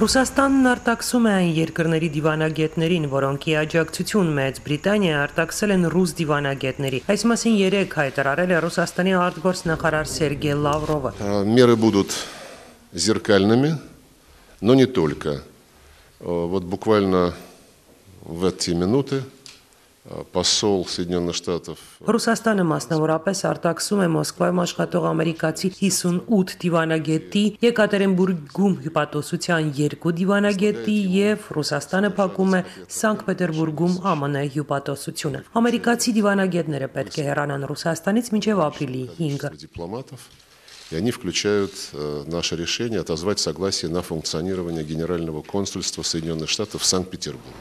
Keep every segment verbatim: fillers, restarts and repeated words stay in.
Ռուսաստանն արտաքսում է այն երկրների դիվանագետներին, որոնք ի աջակցություն Մեծ Բրիտանիա արտաքսել են ռուս դիվանագետների։ Այս մասին երեկ հայտարարել է Ռուսաստանի արտգործնախարար Սերգեյ Լավրովը։ Меры будут зеркальными, но не только. Вот буквально в эти минуты посол Соединенных Штатов Ռուսաստանը մասնավորապես արտաքսում է Մոսկվայում աշխատող ամերիկացի հիսունութ դիվանագետի, Եկատերինբուրգում հյուպատոսության երկու դիվանագետի եւ Ռուսաստանը փակում է Սանկտ Պետերբուրգում Է Մ Ն հյուպատոսությունը։ Ամերիկացի դիվանագետները պետք է հեռանան Ռուսաստանից մինչեւ ապրիլի հինգը։ И они включают э, наше решение отозвать согласие на функционирование Генерального консульства Соединенных Штатов в Санкт-Петербурге.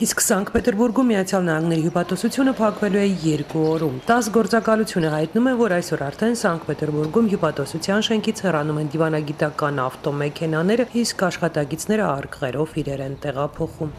Իսկ Սանկտ Պետերբուրգում Միացյալ Նահանգների հյուպատոսությունը փակվելու է երկու օրում։ տաս գործակալությունը հայտնում է, որ այսօր արդեն Սանկտ Պետերբուրգում հյուպատոսության շենքից հեռանում են դիվանագիտական ավտոմեքենաները, իսկ աշխատակիցները արկղերով իրեր են տեղափոխում։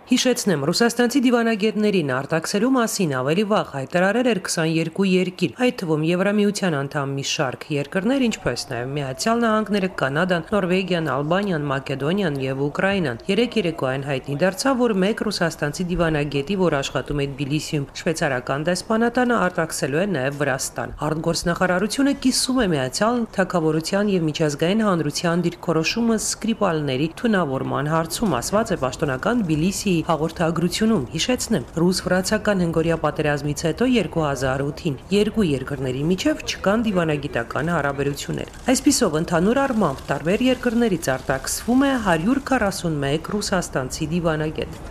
Հիշեցնեմ, ռուսաստանցի դիվանագետներին արտաքսելու մասին ավելի վաղ հայտարարել էր քսաներկու երկիր, այդ թվում Եվրամիության անդամ մի շարք երկրներ, ինչպես նաև Միացյալ Նահանգները, Կանադան, Նորվեգիան, Ալբանիան, Մակեդոնիան եւ Ուկրաինան։ Երեք երեկոյան հայտնի դարձավ, որ մեկ ռուսաստանցի դիվանագետի, որ աշխատում է Թբիլիսիում շվեյցարական դեսպանատանը, արտաքսելու է նաև Վրաստան։ Արտգործնախարարությունը կիսում է Միացյալ Թագավորության եւ միջազգային հանրության դիրքորոշումը Սկրիպալների թունավորման հարցում, ասված է պաշտոնական Թբիլիսի հաղորդագրությունում։ Հիշեցնեմ, ռուս-վրացական հնգօրյա պատերազմից հետո երկու հազար ութին երկու երկրների միջև չկան դիվանագիտական հարաբերություններ։ Այսպիսով, ընդհանուր առմամբ տարբեր երկրներից արտաքսվում է հարյուր քառասունմեկ ռուսաստանցի դիվանագետ։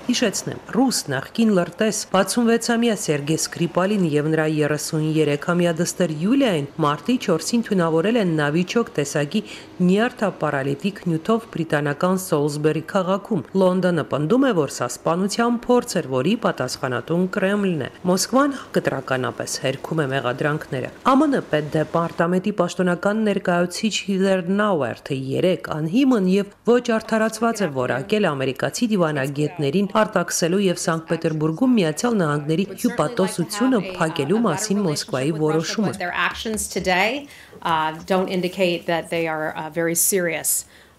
Հիշեցնեմ, ռուս նախկին լրտես վաթսունվեցամյա Սերգեյ Սկրիպալին եւ նրա երեսուներեքամյա դստեր Յուլիային մարտի չորսին թունավորել են Նավիչոկ տեսակի նյարդապարալիտիկ նյութով բրիտանական Սոլսբերի քաղաքում։ Լոնդոնը պնդում է, որ սա սպանության փորձ էր, որի պատասխանատուն Կրեմլն է։ Մոսկվան կտրականապես հերքում է մեղադրանքները։ Է Մ Ն պետդեպարտամենտի պաշտոնական ներկայացուցիչ Հիդեր Նաուերթը երեկ անհիմն եւ ոչ արդարացված է որակել ամերիկացի դիվանագետներին արտաքսելու եւ Սանկտ Պետերբուրգում Միացյալ Նահանգների հյուպատոսությունը փակելու մասին Մոսկվայի որոշումը։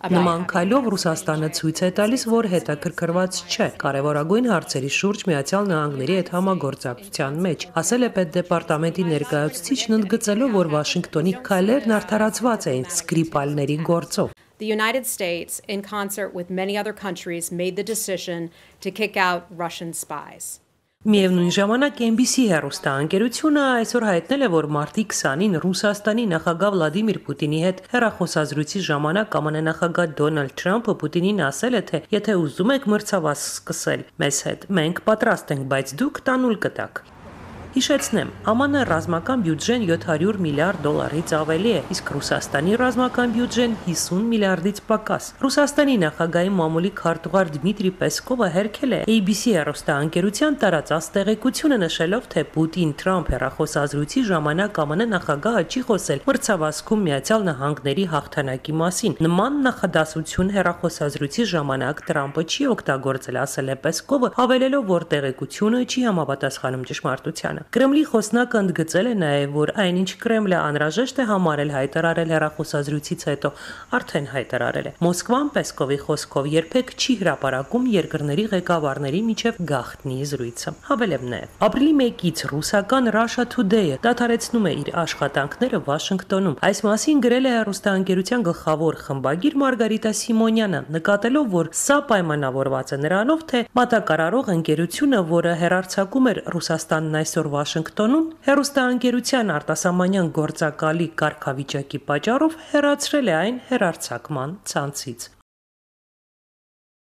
Նման քայլով Ռուսաստանը ցույց է տալիս, որ հետաքրքրված չէ կարևորագույն հարցերի շուրջ Միացյալ Նահանգների հետ համագործակցության մեջ, ասել է պետդեպարտամենտի ներկայացուցիչն, ընդգծելով, որ Վաշինգտոնի քայլերն արդարացված էին Սկրիպալների գործով։ The United States, in concert with many other countries, made the decision to kick out Russian spies. Միևնույն ժամանակ N B C հեռուստաընկերությունը այսօր հայտնել է, որ մարտի քսանին Ռուսաստանի նախագահ Վլադիմիր Պուտինի հետ հեռախոսազրույցի ժամանակ Է Մ Ն նախագահ Դոնալդ Թրամփը Պուտինին ասել է, թե եթե ուզում եք մրցավազ սկսել մեզ հետ, մենք պատրաստ ենք, բայց դուք տանուլ կտաք։ Հիշեցնեմ, Է Մ Ն ռազմական բյուջեն յոթ հարյուր միլիարդ դոլարից ավելի է, իսկ Ռուսաստանի ռազմական բյուջեն հիսուն միլիարդից պակաս։ Ռուսաստանի նախագահի մամուլի քարտուղար Դմիտրի Պեսկովը հերքել է A B C հեռուստաընկերության տարածած տեղեկությունը, նշելով, թե Պուտին-Թրամփ հեռախոսազրույցի ժամանակ Է Մ Ն նախագահը չի խոսել մրցավազքում Միացյալ Նահանգների հաղթանակի մասին։ Նման նախադասություն հեռախոսազրույցի ժամանակ Թրամփը չի օգտագործել, ասել է Պեսկովը, հավելելով, որ տեղեկությունը չի համապատասխանում ճշմարտությանը։ Կրեմլի խոսնակը ընդգծել է նաև, որ այնինչ Կրեմլը անհրաժեշտ է համարել հայտարարել հեռախոսազրույցից հետո, արդեն հայտարարել է։ Մոսկվան Պեսկովի խոսքով երբեք չի հրապարակում երկրների ղեկավարների միջև գաղտնի զրույցը։ Հավելեմ նաև, ապրիլի մեկից ռուսական Russia Today-ը դադարեցնում է իր աշխատանքները Վաշինգտոնում։ Այս մասին գրել է հեռուստաընկերության գլխավոր խմբագիր Մարգարիտա Սիմոնյանը, նկատելով, որ սա պայմանավորված է նրանով, թե մատակարարող ընկերությունը, որը հեռարձակում էր Ռուսաստանն այսօր Վաշինգտոնում, հեռուստաընկերության արտասահմանյան գործակալի կարգավիճակի պատճառով հեռացրել է այն հեռարձակման ցանցից։